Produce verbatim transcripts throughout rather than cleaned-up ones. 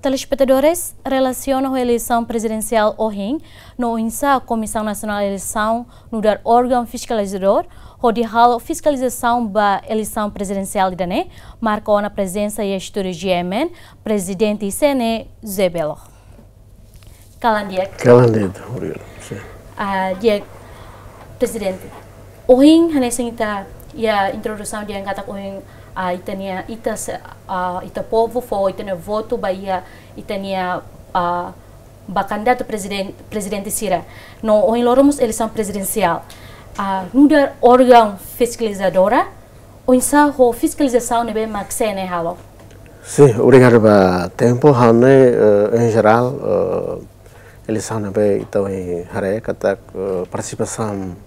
Telespetadores, relasiona ho eleisaun prezidensiál ohin, no oinsá Komisaun Nasionál Eleisaun nu'udar órgaun fiskalizadór hodi halo fiskalizasaun ba eleisaun prezidensiál ida-ne'e, marka ona prezensa iha estúdiu G M N, Prezidente C N E, José Belo. Kalan di'ak. Kalan di'ak, obrigadu. Sin. Ah, di'ak, Prezidente. Ohin, hanesan ita iha introdusaun dehan katak ohin, ah, ita-nia, ita se-, ah, ita povu fó ita-nia votu ba iha ita-nia, ah, ba kandidatu preziden-, prezidente sira. No ohin loron mós eleisaun prezidensiál. Ah, nu'udar órgaun fiskalizadora, oinsá ho fiskalizasaun ne'ebé mak C N E halo? Sin, obrigadu ba tempu, ha'u hanoin, eh, em geral, eh, eleisaun ne'ebé ita ohin haree katak, eh, partisipasaun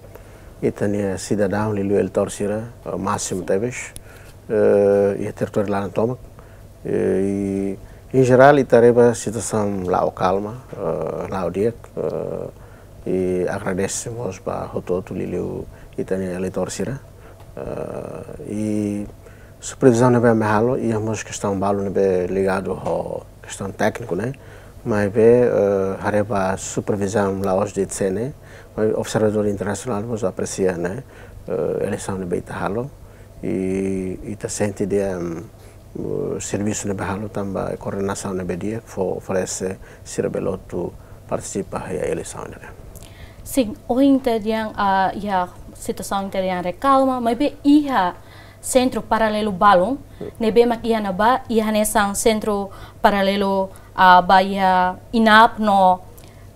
ita-nia sidadaun liuliu eleitór sira, eh, másimu tebes, eh, iha territóriu laran tomak. Eh, i, em geral, ita haree ba situasaun la'o kalma, eh, la'o di'ak, eh, i agradese mós ba hotu-hotu liuliu ita-nia eleitór sira. Eh, i supervizaun ne'ebé ami halo, iha mós kestaun balu ne'ebé ligadu ho kestaun tékniku, ne'e. Maibé, eh, haree ba supervizaun la'ós de'it C N E, maibé observadór internasionál mós apresia, ne'e, eh, eleisaun ne'ebé ita halo. I ita sente dehan, mm, eh, servisu ne'ebé halo tanba koordenasaun ne'ebé di'ak fó, oferese sira bele hotu partisipa iha eleisaun ne'e. Sin, ohin ita dehan, ah, iha situasaun ita dehan ne'e kalma, maibé iha sentru paralelu balun, ne'ebé mak iha ne'ebá, iha hanesan sentru paralelu, ah, ba iha INAP no,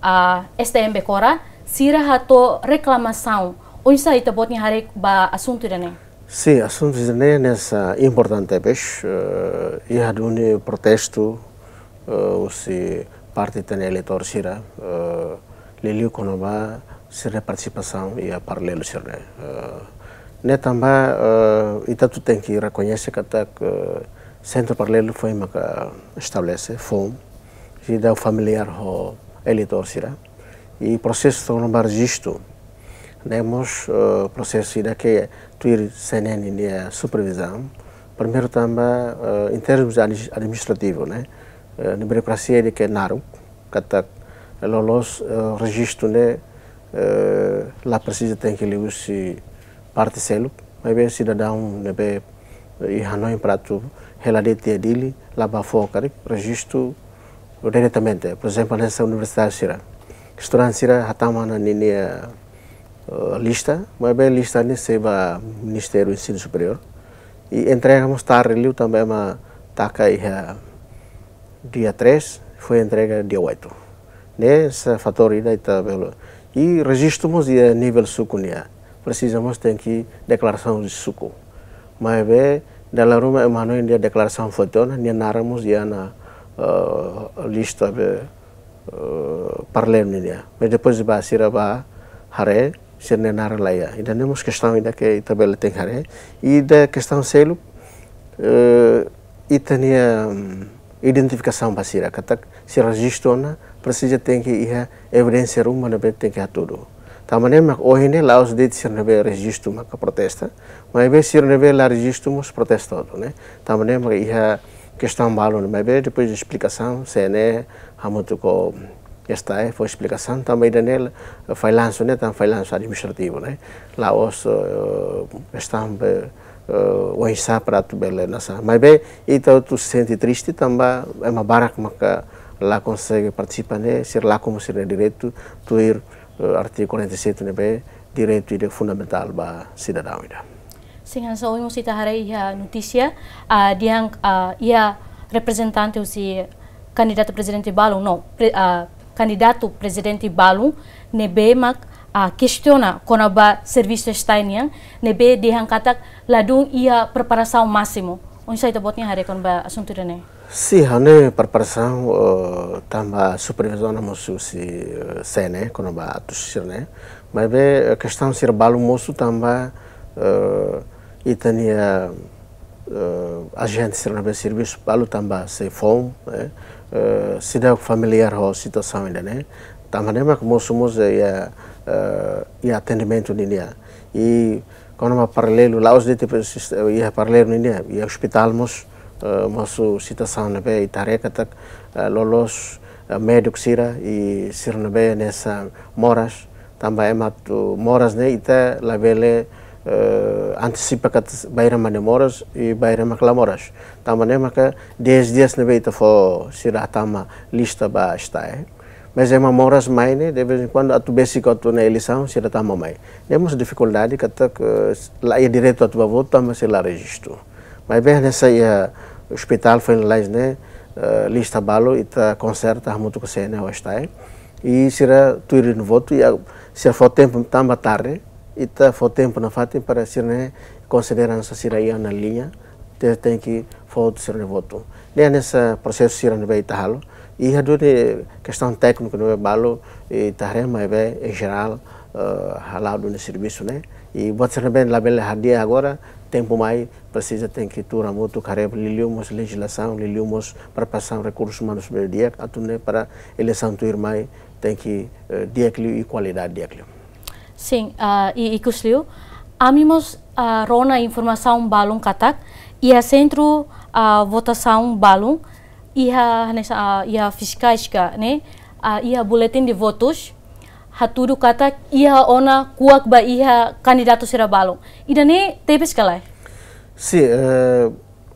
ah, S T M Becora, sira hato'o reklamasaun. Oinsá ita-boot nia haree ba asuntu ida-ne'e? Sin, asuntu ida-ne'e hanesan importante tebes, eh, iha duni protestu, eh, husi parte ita-nia eleitór sira, eh, liuliu kona-ba sira-nia partisipasaun iha paralelu sira-ne'e. Eh, ne'e tanba, eh, ita hotu tenke rekoñese katak, eh, sentru paralelu foin maka estabelese, foun, seidauk familiár ho eleitór sira. I prosesu kona-ba rejistu, ne'e mós, eh, prosesu ida ke tuir C N E nia supervizaun. Primeiru tanba, eh, em termos admi-, administrativu, ne'e, eh, nia burokrasia ida ke naruk, katak loloos, eh, rejistu ne'e, eh, la presiza tenke liuhusi parte seluk, maibé sidadaun ne'ebé, eh, iha hanoin para atu hela de'it iha Dili, la bá fó karik, rejistu diretamente. Por ezemplu, hanesan universitáriu sira. Estudante sira hatama ona ninia, eh, lista, maibé lista ne'e sei ba Ministériu Ensinu Superiór. I entrega mós tarde liu tanba ema taka iha dia três, foin entrega dia oito. Ne'e hanesan fatór ida ita bele. I rejistu mós iha nivel suku nian. Presiza mós tenke deklarasaun de suku. Maibé, dala ruma ema hanoin dehan deklarasaun foto ona, nia naran mós iha ona, eh, lista be, eh, paralelu nian. Mas depois ba sira bá haree, sira-nia naran la iha. Ida-ne'e mós kestaun ida ke ita bele tenke haree. Ida kestaun seluk, eh, ita-nia, mm, identifikasaun ba sira, katak sira rejistu ona, presiza tenke iha evidénsia ruma ne'ebé tenke hatudu. Tanba ne'e mak ohin ne'e la'ós de'it sira ne'ebé rejistu maka protesta, maibé sira ne'ebé la rejistu mós protesta hotu, ne'e. Tanba ne'e mak iha kestaun balu ne'e, maibé depois de esplikasaun, C N E, hamutuk ho STAE, fó esplikasaun, tanba ida-ne'e, fallansu ne'e, tanba fallansu administrativu, ne'e. La'ós, eh, kestaun be, eh, oinsá para atu bele hanesan. Maibé, ita hotu sente triste, tanba ema barak maka la konsege partisipa ne'e, sira lakon mós sira-nia direitu, tuir, eh, artigu quarenta e sete ne'ebé, direitu ida fundamentál ba sidadaun ida. Sin, hanesan ohin mós ita haree iha notísia, ah, dehan, ah, iha reprezentante husi kandidatu prezidente balun, no, pre-, ah, kandidatu prezidente balun, ne'ebé mak, ah, kestiona kona-ba servisu STAE nian, ne'ebé dehan katak ladún iha preparasaun másimu. Oinsá ita-boot nia haree kona-ba asuntu ida-ne'e? Sin, ha'u hanoin preparasaun, eh, tanba supervizaun mós husi, eh, C N E, kona-ba atus sira-ne'e. Maibé, eh, kestaun sira balu mosu tanba, eh, ita-nia, eh, ajente sira ne'ebé servisu balu tanba sei foun, eh, eh, seidauk familiár ho situasaun ida-ne'e. Tanba ne'e mak mosu mós, eh, iha, eh, iha atendimentu nian. I kona-ba paralelu, la'ós de'it, eh, iha paralelu nian, iha ospitál mós, Eh, mosu situasaun ne'ebé ita haree katak, eh, loloos, eh, médiku sira i sira ne'ebé hanesan moras, tanba ema atu moras ne'e ita labele, eh, antisipa katak bainhira mak ne'e moras i bainhira mak la moras. Tanba ne'e maka dez dias ne'ebé ita fó sira hatama lista ba STAE. Mas ema moras mai ne'e, de vez em quando, atu besik atu iha eleisaun, sira tama mai. Ne'e mós difikuldade katak, eh, la iha direitu atu bá votu, tanba sira la rejistu. Maibé hanesan iha ospitál foin lalais ne'e, eh, lista balu, ita konserta hamutuk ho CNE ho STAE. I sira tuir nia votu, i a, sira fó tempu tanba tarde, ita fó tempu nafatin para sira ne'e konsidera hanesan sira iha ona liña, te-, tenke fó sira-nia votu. Ne'e hanesan prosesu sira ne'ebé ita halo. I iha duni kestaun tékniku ne'ebé balu, ita haree maibé, em geral, eh, hala'o duni servisu ne'e. I buat sira ne'ebé labele hadi'a agora, tempu mai, presiza tenke tuur hamutuk haree liuliu mós lejizlasaun, liuliu mós preparasaun rekursus umanus ne'ebé di'ak, atu nune'e para eleisaun tuirmai tenke, eh, di'ak liu i kualidade di'ak liu. Sin, ah, i ikus liu, ami mós, ah, rona informasaun balun katak, iha sentru, ah, votasaun balun, iha hanesan, ah, iha fiskais ka ne'e, ah, iha boletin de votus, hatudu katak iha ona kuak ba iha kandidatu sira balun. Ida-ne'e tebes ka lae? Sin, eh,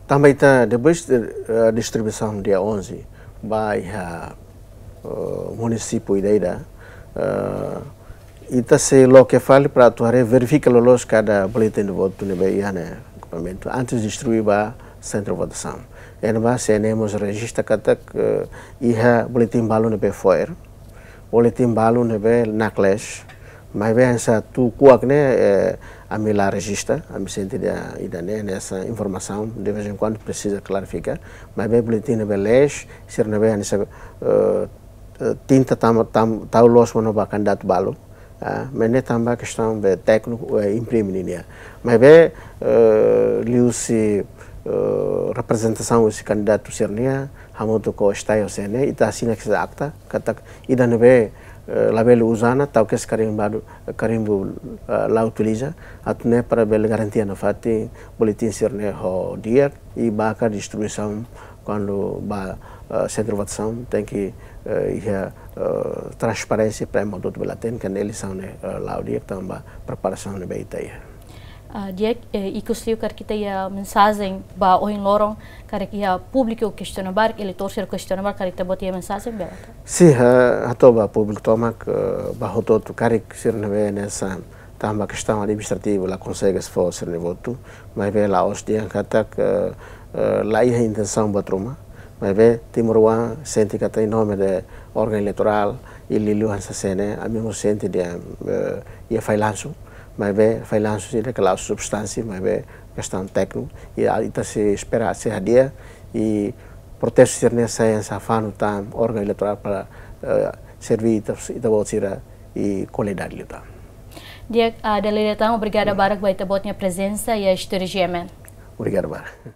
tanba ita depois de, eh, distribuisaun dia onze ba iha, eh, munisípiu ida-ida, eh, ita sei loke fali para atu haree verifika loloos kada boletin de votu ne'ebé iha ne'e ekipamentu antes distribui ba sentru votasaun. Entaun CNE mós rejista katak, eh, iha boletin balu ne'ebé fo'er, boletin balu ne'ebé naklees, maibé hanesan atu kuak ne'e, eh, ami la rejista, ami sente dehan ida-ne'e hanesan informasaun, de vez em quando presiza klarifika, maibé boletin ne'ebé lees, sira ne'ebé hanesan, eh, eh, tinta tam, tam, tau loos monu ba kandidatu balu, ah, maibé ne'e tanba kestaun be tékniku, eh, imprime ninia. Maibé, eh, liuhusi, eh, reprezentasaun husi kandidatu sira-nian, hamutuk ho STAE ho CNE, ita asina kedas akta, katak ida ne'ebé, eh, labele uza ona, tau kedas karimbadu, karimbu, eh, la utiliza, atu nune'e para bele garantia nafatin boletin sira-ne'e ho di'ak, i ba ka distribuisaun kuandu ba, eh, sentru votasaun tenke, eh, iha, eh, transparénsia para ema hotu-hotu bele hatene katak eleisaun ne'e, eh, la'o di'ak tanba preparasaun ne'ebé ita iha. Ah, di'ak, eh, ikus liu karik ita iha mensajen ba ohin loron, karik iha públiku kestiona barak, eleitór sira kestiona barak, karik ita-boot iha mensajen bele? Sin, eh, hato'o ba públiku tomak, eh, ba hotu-hotu karik sira ne'ebé hanesan tanba kestaun administrativu la konsege fó sira-nia votu, maibé la'ós dehan katak, eh, eh, la iha intensaun buat ruma, maibé timoroan sente katak em nome de órgaun eleitorál, i liuliu hanesan CNE, ami mós sente dehan, eh, iha fallansu, maibé fallansu sira ne'e la substánsia, maibé kestaun tékniku, i a, ita sei espera sei hadi'a, i protestu sira-ne'e sai hanesan fanu tan órgaun eleitorál para, eh, serve ita, ita-boot sira i kualidade liután. Di'ak, ah, dala ida tan, obrigada barak ba ita-boot nia prezensa iha estúdiu GMN. Obrigadu barak.